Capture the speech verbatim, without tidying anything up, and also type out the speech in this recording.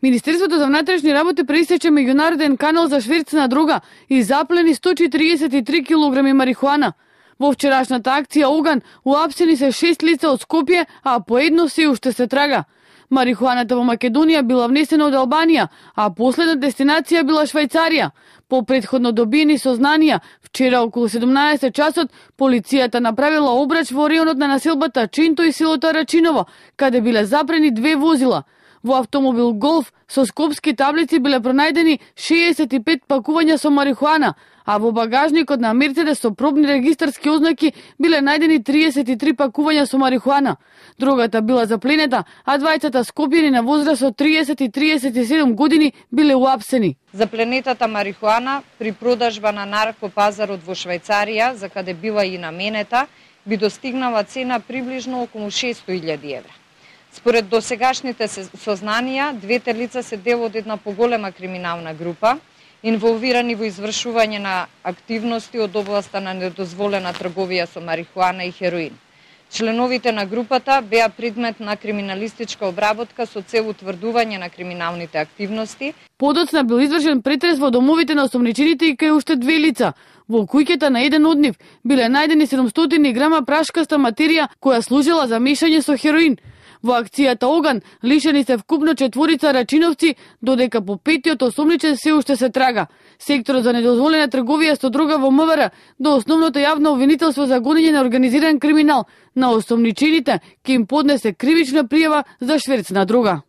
Министерството за внатрешни работи пресече меѓународен канал за шверц на дрога и заплени сто четириесет и три килограми марихуана. Во вчерашната акција Оган уапсени се шест лица од Скопје, а по едно се уште се трага. Марихуаната во Македонија била внесена од Албанија, а последна дестинација била Швајцарија. По претходно добиени сознанија, вчера околу седумнаесет часот, полицијата направила обрач во реонот на населбата Чинто и селото Рачиново, каде биле запрени две возила. Во автомобил Голф со скопски таблици биле пронајдени шеесет и пет пакувања со марихуана, а во багажникот на Мерцедес со пробни регистарски ознаки биле најдени триесет и три пакувања со марихуана. Дрогата била запленета, а двајцата скопјани на возраст од триесет и триесет и седум години биле уапсени. Запленетата марихуана при продажба на наркопазарот во Швајцарија, за каде била и наменета, би достигнала цена приближно околу шестои илјади евра. Според досегашните сознанија, двете лица се дел од една поголема криминална група, инволвирани во извршување на активности од областа на недозволена трговија со марихуана и хероин. Членовите на групата беа предмет на криминалистичка обработка со цел утврдување на криминалните активности. Подоцна бил извршен претрес во домовите на осомничените и кај уште две лица. Во куќата на еден од нив биле најдени седумстотини грама прашкаста материја која служела за мешање со хероин. Во акцијата Оган лишени се вкупно четворица рачиновци, додека по петиот осомничен се уште се трага. Секторот за недозволена трговија со дрога во МВР до основното јавно обвинителство за гонење на организиран криминал на осомничените ќе им поднесе кривична пријава за шверц на дрога.